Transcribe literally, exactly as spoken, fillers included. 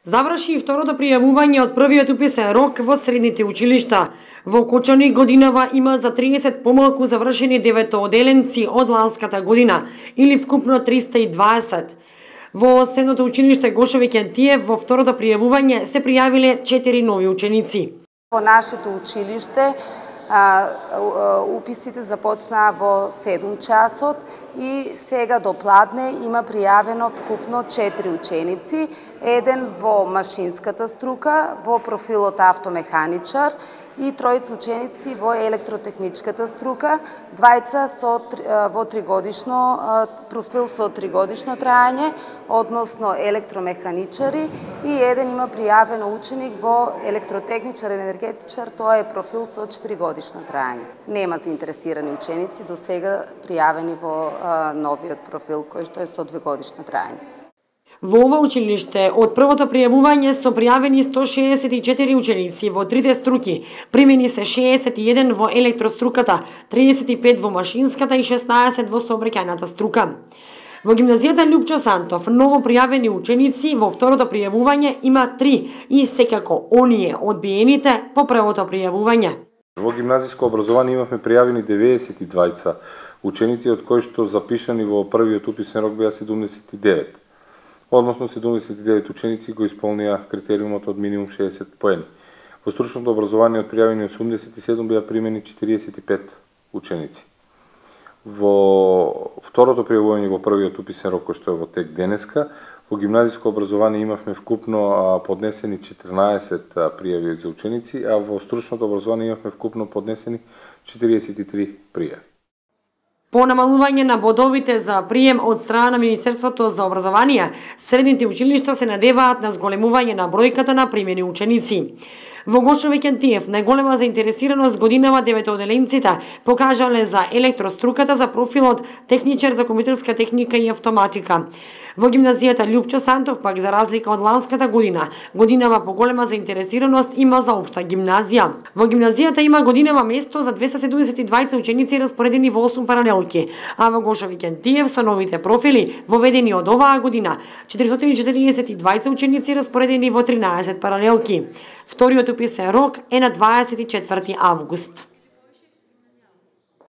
Заврши и второто пријавување од првиот уписен рок во средните училишта. Во Кочани годинава има за триесет помалку завршени деветооделенци од ланската година, или вкупно триста и дваесет. Во средното училиште Гошо Викентиев во второто пријавување се пријавиле четири нови ученици. Во нашето училиште а, уписите започнаа во седум часот и сега до пладне има пријавено вкупно четири ученици, еден во машинската струка, во профилот автомеханичар и тројца ученици во електротехничката струка, двајца со во тригодишно профил со тригодишно трајање, односно електромеханичари, и еден има пријавено ученик во електротехничар и енергетичар, тоа е профил со четиригодишно трајање. Нема заинтересирани ученици до сега пријавени во а, новиот профил кој што е со двегодишно трајање. Во ова училиште од првото пријавување со пријавени сто шеесет и четири ученици во трите струки, примени се шеесет и еден во електроструката, триесет и пет во машинската и шеснаесет во сообраќајната струка. Во гимназијата Лјупчо Сантов ново пријавени ученици во второто пријавување има три и секако оние одбиените по првото пријавување. Во гимназиско образование имавме пријавени деветдесет и двајца ученици, од кои што запишани во првиот уписен рок беа седумдесет и девет. Односно седумдесет и девет ученици го исполнија критериумот од минимум шеесет поени. Во стручното образование од пријавени осумдесет и седум беа примени четириесет и пет ученици. Во второто пријавување во првиот уписен рок, кој што е во тек денеска, во гимназиско образование имавме вкупно поднесени четрнаесет пријави за ученици, а во стручното образование имавме вкупно поднесени четириесет и три пријави. По намалување на бодовите за прием од страна на Министерството за образование, средните училишта се надеваат на зголемување на бројката на примени ученици. Во Гошо Викентиев најголема заинтересираност годинава деветооделенците покажале за електроструката за профилот техничар за компјутерска техника и автоматика. Во гимназијата Лјупчо Сантов пак, за разлика од ланската година, годинава поголема заинтересираност има за општа гимназија. Во гимназијата има годинава место за двеста седумдесет и двајца ученици распоредени во осум паралелки, а во Гошо Викентиев со новите профили воведени од оваа година четиристотини и четириесет и двајца ученици распоредени во тринаесет паралелки. Вториот уписен рок е на дваесет и четврти август.